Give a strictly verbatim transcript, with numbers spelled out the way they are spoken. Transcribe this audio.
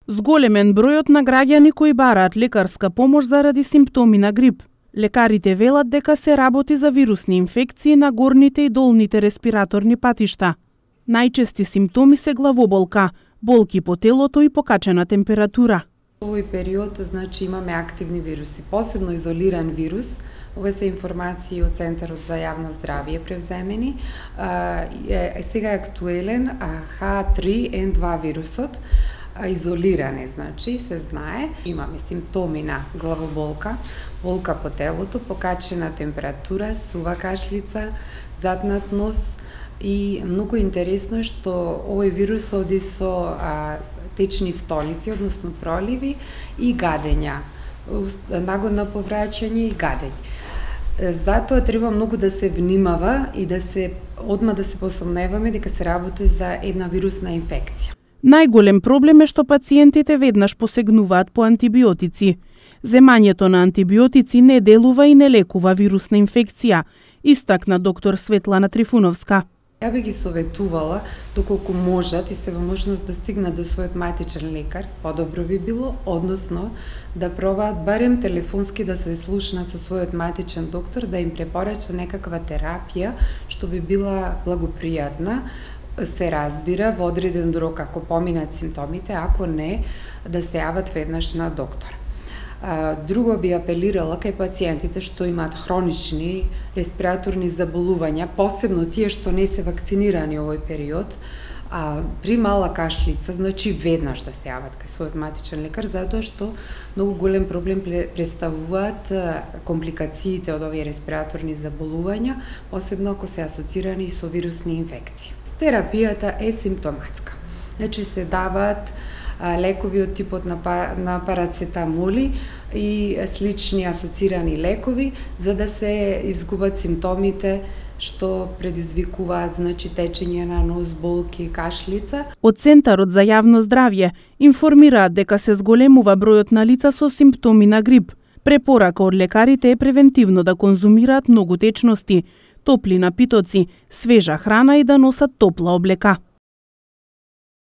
Зголемен бројот на граѓани кои бараат лекарска помош заради симптоми на грип. Лекарите велат дека се работи за вирусни инфекции на горните и долните респираторни патишта. Најчести симптоми се главоболка, болки по телото и покачена температура. Во овој период, значи, имаме активни вируси, посебно изолиран вирус. Ова се информации од Центарот за јавно здравје превземени. Е, сега е актуелен Х три Н два вирусот, изолиран е, значи, се знае. Имаме симптоми на главоболка, болка по телото, покачена температура, сува кашлица, затнат нос и многу интересно е што овој вирус оди со а, течни столици, односно проливи и гадења, нагодна повраќање и гадење. Затоа треба многу да се внимава и да се одма да се посомневаме дека се работи за една вирусна инфекција. Најголем проблем е што пациентите веднаш посегнуваат по антибиотици. Земањето на антибиотици не делува и не лекува вирусна инфекција, истакна доктор Светлана Трифуновска. Ја би ги советувала, доколку можат и се во можност да стигнат до својот матичен лекар, подобро би било, односно да пробаат барем телефонски да се слушнат со својот матичен доктор, да им препорача некаква терапија што би била благопријатна, се разбира во одреден рок ако поминат симптомите, ако не, да се јават веднаш на доктор. Друго би апелирала кај пациентите што имаат хронични респираторни заболувања, посебно тие што не се вакцинирани овој период, а при мала кашлица, значи веднаш да се јават кај својот матичен лекар, затоа што многу голем проблем представуваат компликациите од овие респираторни заболувања, посебно ако се асоцирани со вирусни инфекции. Терапијата е симптоматска. Значи се даваат лекови од типот на, на парацетамоли и слични асоцирани лекови за да се изгубат симптомите што предизвикуваат, значи, течење на нос, болки, кашлица. Од Центарот за јавно здравје информираат дека се зголемува бројот на лица со симптоми на грип. Препорака од лекарите е превентивно да конзумираат многу течности, топли напитоци, свежа храна и да носат топла облека.